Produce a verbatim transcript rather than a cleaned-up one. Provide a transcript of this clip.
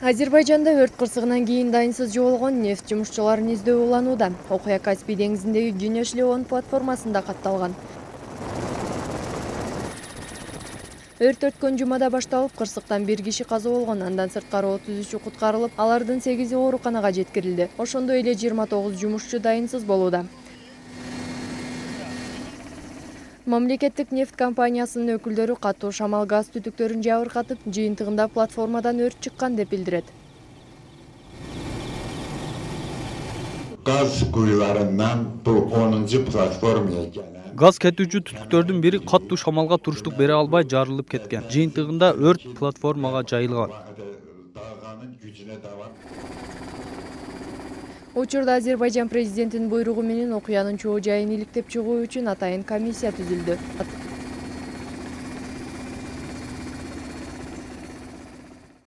Азербайжанда өрт кырсыгынан кийин дайынсыз жоголгон нефть жумушчуларын издөө уланууда. Окуя Каспий деңизиндеги Güneş Leon платформасында катталган. Өрт өткөн жумада башталып, кырсыктан бир киши каза болгон, андан сырткары отуз үчү куткарылып, алардын сегизи ооруканага жеткирилди. Ошондой эле жыйырма тогуз жумушчу дайынсыз болууда. Мамлекеттик нефть компаниясынын өкүлдөрү катуу шамал газ түтүктөрүн жабыркатып, жыйынтыгында платформадан өрт чыккан деп билдирет. Gaz kuyularından bu onuncu platformaya gelen Газ кетүүчү түтүктөрдүн бири катуу шамалга туруштук бере албай жарылып кеткен. Жыйынтыгында өрт платформага жайылган. dağının gücüne davam. Учурда Азербайжан президентинин буйругу менен окуянын чоо жайын иликтеп чыгуу үчүн атайын комиссия түзүлдү.